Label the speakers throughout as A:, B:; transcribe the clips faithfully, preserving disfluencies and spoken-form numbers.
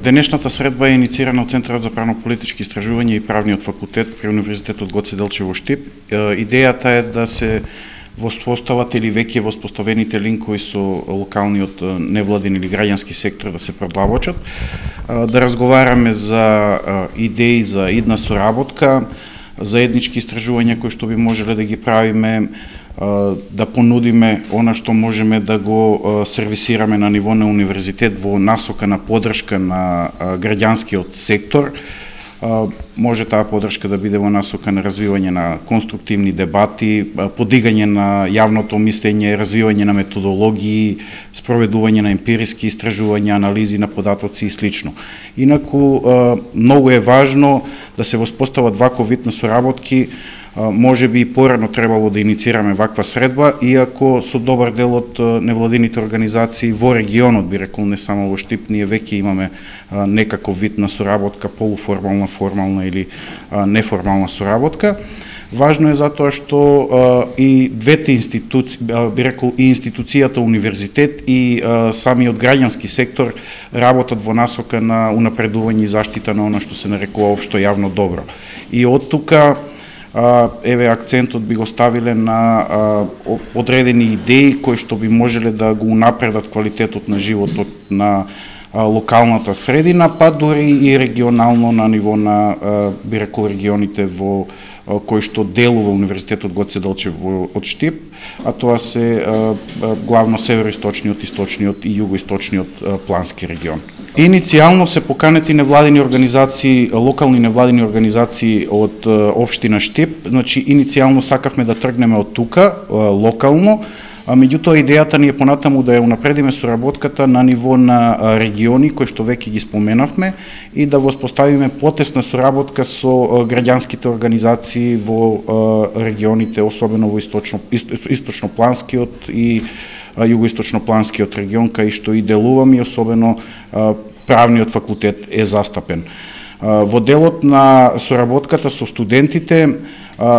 A: Денешната средба е инициирана од Центарот за правно-политички истражувања и правниот факултет при Универзитетот Гоце Делчев во Штип. Идејата е да се воспостават или веќе воспоставените линкови со локалниот невладин или граѓански сектор да се продлабочат, да разговараме за идеи за идна соработка, заеднички истражувања кои што би можеле да ги правиме, да понудиме она што можеме да го сервисираме на ниво на универзитет во насока на подршка на граѓанскиот сектор. Може таа подршка да биде во насока на развивање на конструктивни дебати, подигање на јавното мислење, развивање на методологии, спроведување на емпириски истражувања, анализи на податоци и слично. Инаку, многу е важно да се воспостават ваков вид на соработки. Може би и порано требало да инициираме ваква средба, иако со добар дел од невладините организации во регионот, би рекол, не само во Штип, ние веќе имаме некаков вид на соработка, полуформална, формална или неформална соработка. Важно е затоа што и двете институции, би рекол, и институцијата универзитет и самиот граѓански сектор работат во насока на унапредување и заштита на она што се нарекува општо јавно добро. И од тука еве акцентот би го ставиле на одредени идеи кои што би можеле да го унапредат квалитетот на животот на локалната средина, па дури и регионално на ниво на, би рекол, регионите во кои што делува Универзитетот Гоце Делчев од Штип, а тоа се главно североисточниот, источниот и југоисточниот плански регион. Иницијално се поканети невладини организации, локални невладини организации од општина Штип. Значи, иницијално сакавме да тргнеме од тука, локално, а меѓутоа идејата ни е понатаму да ја унапредиме соработката на ниво на региони кои што веќе ги споменавме и да воспоставиме потесна соработка со граѓанските организации во регионите, особено во источно источнопланскиот и југоисточнопланскиот регион, кај што и делувам и особено правниот факултет е застапен. Во делот на соработката со студентите,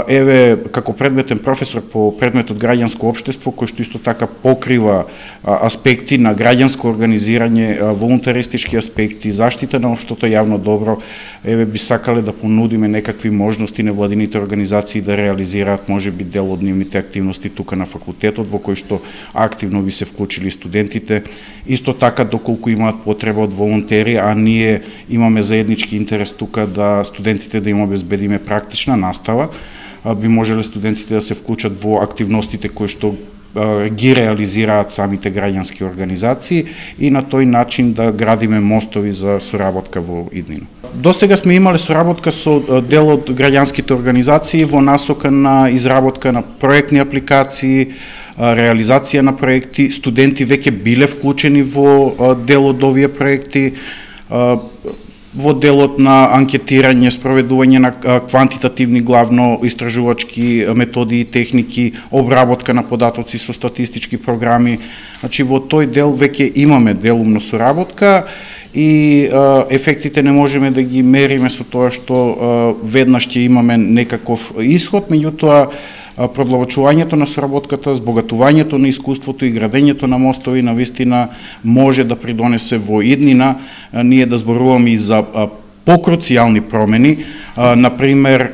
A: еве, како предметен професор по предметот граѓанско општество, кој што исто така покрива аспекти на граѓанско организирање, волунтаристички аспекти, заштита на општото јавно добро, еве би сакале да понудиме некакви можности невладините организации да реализираат можеби дел од нивните активности тука на факултетот, во кој што активно би се вклучили студентите. Исто така, доколку имаат потреба од волонтери, а ние имаме заеднички интерес тука да студентите да им обезбедиме практична настава, би можеле студентите да се вклучат во активностите кои што ги реализираат самите граѓански организации и на тој начин да градиме мостови за соработка во иднина. До сега сме имале соработка со дел од граѓанските организации во насока на изработка на проектни апликации, реализација на проекти. Студенти веќе биле вклучени во дел од овие проекти, во делот на анкетирање, спроведување на квантитативни главно истражувачки методи и техники, обработка на податоци со статистички програми. Значи, во тој дел веќе имаме делумно соработка и ефектите не можеме да ги мериме со тоа што веднаш ќе имаме некаков исход, меѓутоа продлабочувањето на соработката, збогатувањето на искуството и градењето на мостови навистина може да придонесе во иднина. Ние да зборуваме и за покруцијални промени. Например,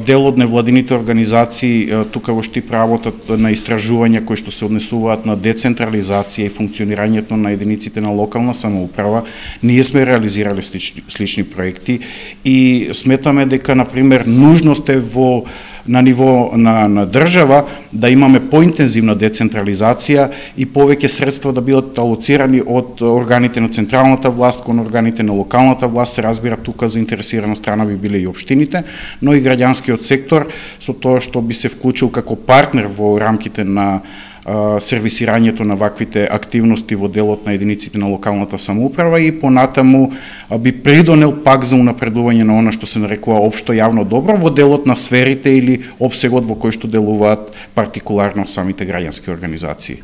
A: дел од невладините организации тука во Штип работат на истражувања кои што се однесуваат на децентрализација и функционирањето на единиците на локална самоуправа. Ние сме реализирали слични, слични проекти и сметаме дека, например, нужност е во на ниво на, на држава да имаме поинтензивна децентрализација и повеќе средства да бидат алоцирани од органите на централната власт кон органите на локалната власт. Се разбира, тука заинтересирана страна би биле и општините, но и граѓанскиот сектор со тоа што би се вклучил како партнер во рамките на сервисирањето на ваквите активности во делот на единиците на локалната самоуправа и понатаму би придонел пак за унапредување на она што се нарекува општо јавно добро во делот на сферите или опсегот во кој што делуваат партикуларно самите граѓански организации.